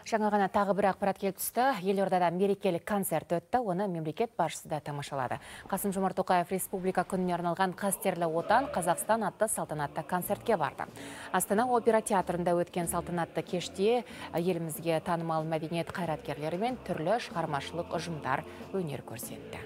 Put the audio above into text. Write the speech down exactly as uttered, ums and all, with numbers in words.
Жаңа ғана тағы бір ақпарат келіп түсті. Елордада мерекелік концерт өтті, оны мемлекет басшысы да тамашалады. Қасым-Жомарт Тоқаев республика күніне арналған «Қастерлі отан, Қазақстан» атты салтанатты концертке барды. Астана опера театрында өткен салтанатты кеште елімізге танымал мәдениет қайраткерлері мен түрлі шығармашылық ұжымдар өнер көрсетті.